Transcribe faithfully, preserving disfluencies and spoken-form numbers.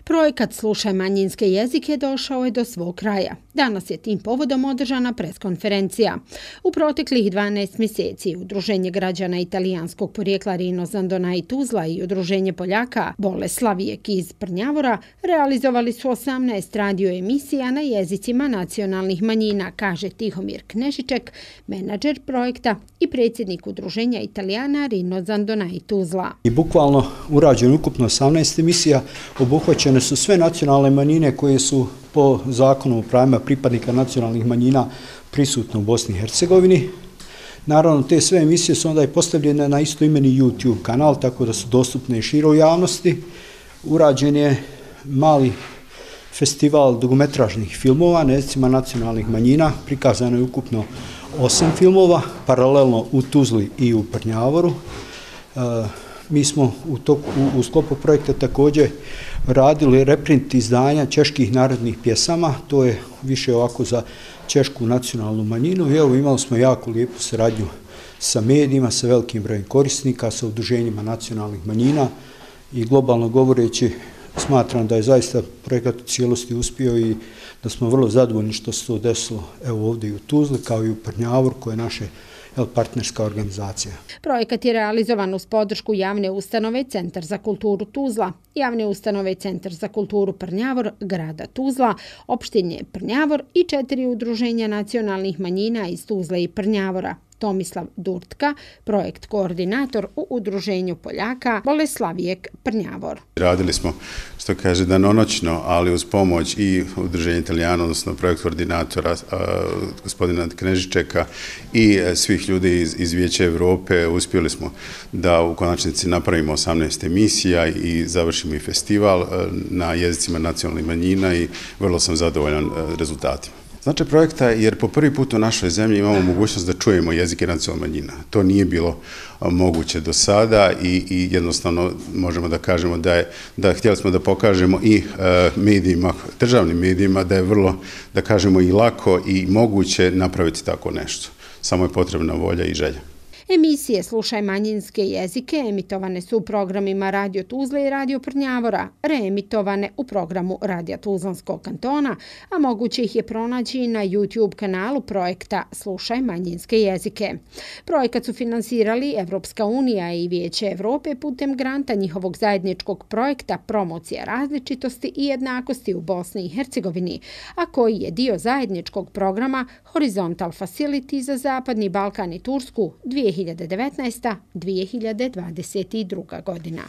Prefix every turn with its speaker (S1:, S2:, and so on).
S1: Projekat Slušaj manjinske jezike došao je do svog kraja. Danas je tim povodom održana preskonferencija. U proteklih dvanaest mjeseci Udruženje građana italijanskog porijekla Rino Zandona i Tuzla i Udruženje Poljaka Boleslavijek iz Prnjavora realizovali su osamnaest radio emisija na jezicima nacionalnih manjina, kaže Tihomir Knežiček, menadžer projekta i predsjednik Udruženja Italijana Rino Zandona i Tuzla.
S2: I bukvalno urađeno ukupno osamnaest emisija, obuhvaćene su sve nacionalne manjine koje su po zakonu o pravima pripadnika nacionalnih manjina prisutne u Bosni i Hercegovini. Naravno, te sve emisije su onda i postavljene na istoimeni YouTube kanal, tako da su dostupne i široj javnosti. Urađen je mali festival dugometražnih filmova na jezicima nacionalnih manjina, prikazano je ukupno osam filmova, paralelno u Tuzli i u Prnjavoru. Mi smo u, toku, u, u sklopu projekta također radili reprint izdanja čeških narodnih pjesama, to je više ovako za češku nacionalnu manjinu i evo imali smo jako lijepu saradnju sa medijima, sa velikim brojem korisnika, sa udruženjima nacionalnih manjina i globalno govoreći smatram da je zaista projekat u cijelosti uspio i da smo vrlo zadovoljni što se to desilo evo ovdje i u Tuzli kao i u Prnjavoru koje je naše partnerska organizacija.
S1: Projekat je realizovan uz podršku javne ustanove Centar za kulturu Tuzla, javne ustanove Centar za kulturu Prnjavor, grada Tuzla, opštine Prnjavor i četiri udruženja nacionalnih manjina iz Tuzle i Prnjavora. Tomislav Durtka, projekt koordinator u Udruženju Poljaka Boleslavijek Prnjavor.
S3: Radili smo, što kaže, danonoćno, ali uz pomoć i Udruženja Italijana, odnosno projekt koordinatora gospodina Knežičeka i svih ljudi iz, iz Vijeća Europe, uspjeli smo da u konačnici napravimo osamnaest emisija i završimo i festival na jezicima nacionalnih manjina i vrlo sam zadovoljan rezultatima. Značaj projekta je jer po prvi put u našoj zemlji imamo mogućnost da čujemo jezike nacionalnih manjina. To nije bilo moguće do sada i, i jednostavno možemo da kažemo da je, da htjeli smo da pokažemo i e, medijima, državnim medijima da je vrlo, da kažemo i lako i moguće napraviti tako nešto. Samo je potrebna volja i želja.
S1: Emisije Slušaj manjinske jezike emitovane su u programima Radio Tuzle i Radio Prnjavora, reemitovane u programu Radija Tuzlanskog kantona, a moguće ih je pronaći na YouTube kanalu projekta Slušaj manjinske jezike. Projekat su finansirali Evropska unija i Vijeće Evrope putem granta njihovog zajedničkog projekta Promocija različitosti i jednakosti u Bosni i Hercegovini, a koji je dio zajedničkog programa Horizontal Facility za Zapadni Balkan i Tursku dvije hiljade devetnaesta do dvije hiljade dvadeset druga godina.